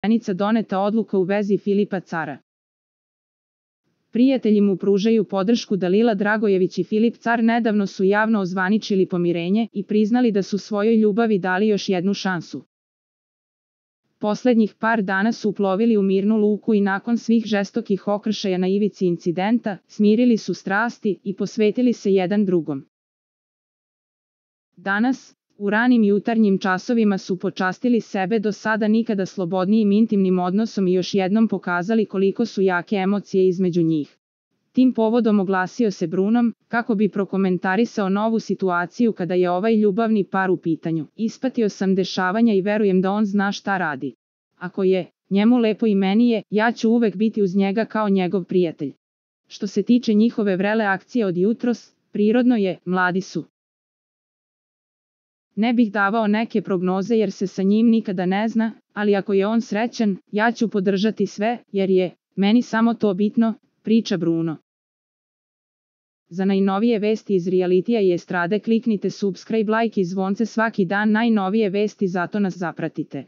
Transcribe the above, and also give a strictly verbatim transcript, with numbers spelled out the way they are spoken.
Poverenica doneta odluka u vezi Filipa Cara. Prijatelji mu pružaju podršku. Dalila Dragojević i Filip Car nedavno su javno ozvaničili pomirenje i priznali da su svojoj ljubavi dali još jednu šansu. Poslednjih par dana su uplovili u mirnu luku i nakon svih žestokih okršaja na ivici incidenta, smirili su strasti i posvetili se jedan drugom. Danas, u ranim jutarnjim časovima su počastili sebe do sada nikada slobodnijim intimnim odnosom i još jednom pokazali koliko su jake emocije između njih. Tim povodom oglasio se Brunom, kako bi prokomentarisao novu situaciju kada je ovaj ljubavni par u pitanju. Ispatio sam dešavanja i verujem da on zna šta radi. Ako je njemu lepo i meni je, ja ću uvek biti uz njega kao njegov prijatelj. Što se tiče njihove vrele akcije od jutros, prirodno je, mladi su. Ne bih davao neke prognoze jer se sa njim nikada ne zna, ali ako je on srećan, ja ću podržati sve, jer je meni samo to bitno, priča Bruno. Za najnovije vesti iz realitija i estrade kliknite subscribe, like i zvonce svaki dan. Najnovije vesti, zato nas zapratite.